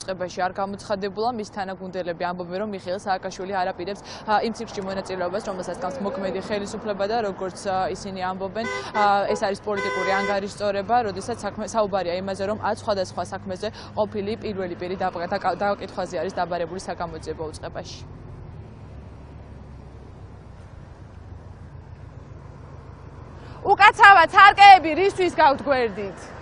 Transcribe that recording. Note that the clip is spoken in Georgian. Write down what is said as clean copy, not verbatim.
დაუწყებაში არ გამოცხადებულა, მის თანაგუნდელები ამბობენ, რომ მიხეილ სააკაშვილი არ აპირებს იმ ცირკში მონაწილეობას, რომელსაც გავს მოქმედი ხელისუფლება და როგორც ისინი ამბობენ, ეს არის პოლიტიკური ანგარიშწორება, როდესაც საუბარია იმაზე, რომ 10 სხვადასხვა საქმეზე ყოფილი პირველი პირი დაკითხვაზე არის დაბარებული საგამოძიებო უწყებაში. უკაცრავად ცარკეები რისთვის გავთ გვერდით?